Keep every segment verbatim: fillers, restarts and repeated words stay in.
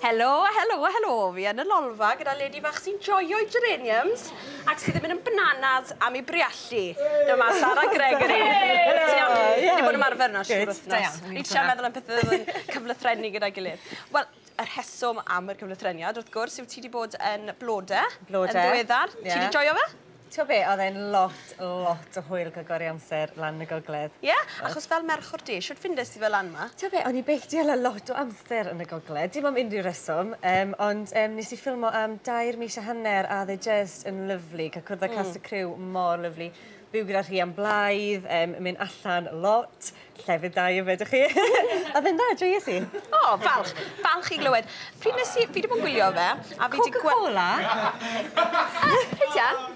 Helo, helo, helo. Fi yn y lolfa gyda lady fach sy'n joio'i geraniums ac sydd yn mynd yn bananas am ei briallu. Dyma Sara Gregory. Ti'n iawn? Ni wedi bod yn ymarfer yna siŵr wythnos. Ni'n trio meddwl am pethau oedd yn cyflythrennu gyda'i gilydd. Wel, y rheswm am yr cyflythreniad, wrth gwrs, yw ti wedi bod yn Blode. Blode. Yn ddiweddar. Ti wedi joio fe? Ti'n be, oedd e'n lot, lot o hwyl cael gwario amser lan y gogledd. Ie? Yeah? Achos fel merch o'r de, shwt ffindes ti fel lan 'ma? Ti'n be, o'n i byth 'di hala lot o amser yn y gogledd, dim am unrhyw reswm, um, ond um, nes i ffilmo am dair mis a hanner a oedd e just yn lyfli, cael cwrdd â mm. cast y criw mor lyfli. Byw gyda Rhian Blaidd, um, mynd allan lot, llefydd da i yfed chi. A dde'n dda, joies i. O, oh, falch, falch i glywed. Pryd nes i, fi wedi bod yn gwylio fe, a fi wedi Coca-Cola? Rhydian?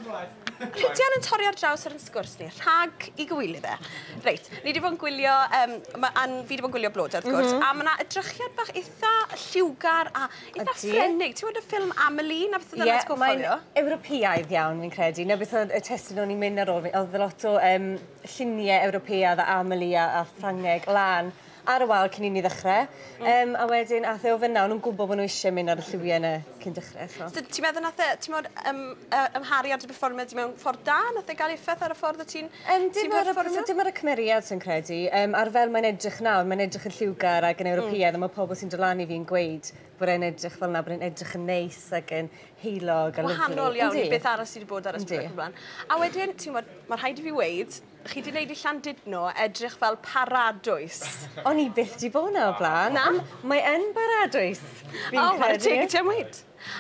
Rhydian yn torri ar draws ar yn sgwrs ni, rhag i gywilydd e. Reit, ni wedi bod yn gwylio, um, ma, an, fi wedi bod yn gwylio Blode, wrth gwrs, mm -hmm. a mae yna edrychiad bach eitha lliwgar a eitha ffrenig. Ti'n gwybod y ffilm Amelie, na beth oedd yna'n atgoffa fi o? Mae'n Ewropeaidd iawn, fi'n credu. Na beth oedd y testun o'n i'n mynd ar ôl fi. Oedd lot o um, lluniau Ewropeaidd a Amelie a, a Ffrangeg lan ar y wal cyn i ni ddechrau. Mm. Um, a wedyn, ath e o fyna, o'n nhw'n gwybod bod nhw eisiau mynd ar y lliwiau yna cyn dechrau. So. So, ti'n meddwl nath e, ti'n meddwl, um, uh, ymharu ar dy perfformiad di mewn ffordd da? Nath e gael effaith ar y ffordd o ti'n um, dim, ar y, dim ar y cymeriad sy'n credu. Um, ar fel mae'n edrych nawr, mae'n edrych yn lliwgar ac yn Ewropeaidd, mm. a mae pobl sy'n dod lan i fi'n gweud bod e'n edrych fel yna, bod e'n edrych yn neis ac yn heulog a lyfli. Wahanol iawn i beth arall sydd wedi bod ar y sbwriel blaen. A wedyn, ti'n gwybod, mae rhaid i fi weud, chi wedi gwneud i Llandudno edrych fel paradwys. O'n i byth di bod na o blaen. Na? Mae yn baradwys, fi'n oh, credu. O, teg i ti am weud.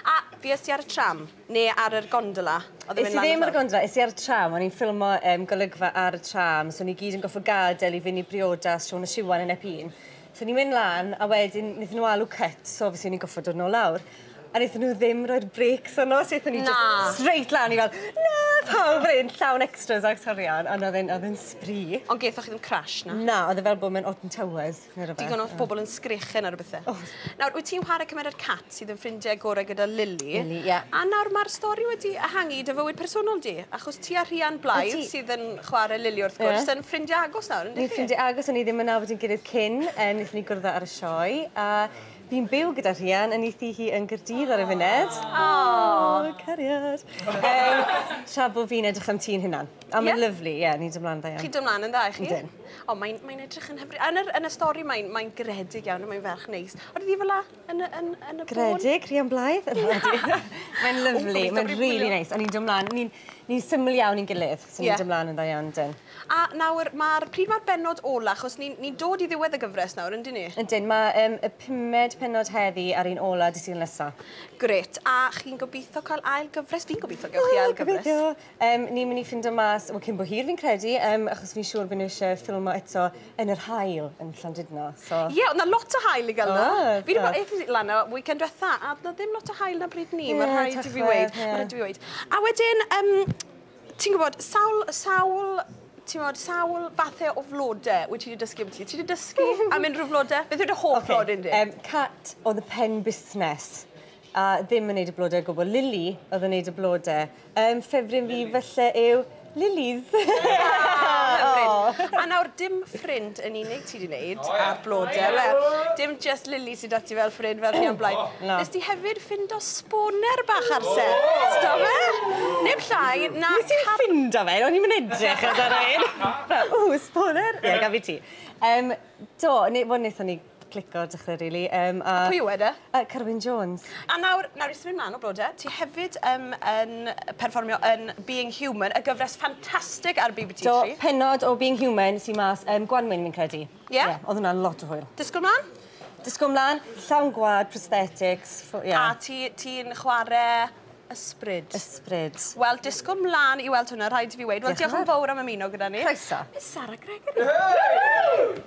A fues ti ar y tram, neu ar yr gondola? Es i ddim ar y gondola, es i ar y tram. O'n i'n ffilmo um, golygfa ar y tram, so ni gyd yn goffo gadael i fynd i briodas Siôn a Siwan yn Ep un. So ni'n mynd lan, a wedyn wnaethon nhw alw cut, so obviously ni'n goffo dod nôl lawr. A wnaethon nhw ddim roi'r brakes arno, so wnaethon ni just straight lan i fel, na, pawb yn llawn extras ac actorion, ond oedd e'n oedd sbri. Ond gethoch chi ddim crash, na? Na, oedd e fel bod mewn Alton Towers, neu rhywbeth. Digon o bobl yn sgrechen ar y bethau. Oh. Nawr, wyt ti'n chwarae cymeriad Cat sydd yn ffrindiau gorau gyda Lily. Lily, ie. Yeah. A nawr mae'r stori wedi ehangu dy fywyd personol di, achos ti a Rhian Blaidd sydd yn chwarae Lily wrth gwrs, yeah. yn ffrindiau agos nawr, yndych chi? Ni'n ffrindiau agos, o'n i ddim yn nabod yn gilydd cyn, wnaethon ni gwrdd ar y sioe, a fi'n byw gyda Rhian yn ei thŷ hi yn Gaerdydd ar y funud. Oh, cariad. Um, tra bod fi'n edrych am tŷ'n hunan. A mae'n yeah. lyfli, ie, yeah, ni'n dod ymlaen dda iawn. Chi'n dod ymlaen yn dda, chi? Yndyn. O, mae'n mae edrych yn hyfryd. Yn, yr, yn y stori mae'n mae gredig iawn, mae'n ferch neis. Oedd hi fel la yn, yn, yn y bôn? Gredig, Rhian Blaidd? Mae'n lyfli, mae'n really neis. A ni'n dod ymlaen, ni'n ni syml iawn i'n gilydd, so ni'n yeah. dod ymlaen yn dda iawn, dyn. A nawr, mae'r pryd mae'r bennod ola, achos ni'n ni dod i ddiwedd y gyfres nawr, yndyn ni? Yndyn, mae um, y pumed pennod heddi a'r un ola dydd Sul nesa. Grêt. A chi'n gobeithio cael ail gyfres? Fi'n gobeithio gewch chi ail gyfres. Gobeithio. Um, ni'n mynd i ffindo mas, wel, cyn bo hir fi'n credu, um, achos fi'n siŵr bod nhw eisiau ffilmo eto yn yr haul yn Llandudno. So... Ie, yeah, oedd 'na lot o haul i gael yna. Oh, fi wedi bod eithaf lan o weekend diwetha, a oedd 'na ddim lot o haul na bryd ni, yeah, mae rhaid i fi weud. Yeah. Mae rhaid i fi weud. A wedyn, um, ti'n gwybod, sawl, sawl ti'n gwybod, sawl fathau o flodau wyt ti wedi dysgu am ti? Ti wedi dysgu am unrhyw flodau? Beth yw dy hoff okay. flodyn di? Um, Cat oedd y pen busnes a ddim yn neud y blodau o gwbl. Lily oedd yn neud y blodau. Um, ffefryn fi falle yw Lilies. Oh. A nawr, dim ffrind yn unig ti wedi wneud oh, yeah. ar blodau. Oh, dim just Lily sydd â ti fel ffrind fel Rhian Blaidd. Oh. No. Nes ti hefyd ffindo sboner bach ar set. Oh. Do fe? Neb llai na... Nes i'n ffindo fe, o'n i'n mynd edrych ar un. O, sboner. Ie, gaf fi ti. Um, do, ne, wel, wnaethon ni clico dechrau, really. Um, a, a pwy yw e de? Uh, Carwyn Jones. A nawr, nawr i symud mlaen o blodau, ti hefyd um, yn perfformio yn Being Human, y gyfres ffantastig ar B B C Do, tri. Pennod o Being Human sy'n mas um, Gwanwyn, fi'n credu. Ie? Yeah? Yeah, oedd hwnna'n lot o hwyl. Disgwyl mlaen? Disgwyl mlaen, llawn gwad, prosthetics. Yeah. A ti'n ti chwarae ysbryd. Ysbryd. Wel, disgwyl mlaen i weld hwnna, rhaid i fi weud. Wel, diolch yn fawr am ymuno gyda ni. Croeso. Miss Sara Gregory. Hey!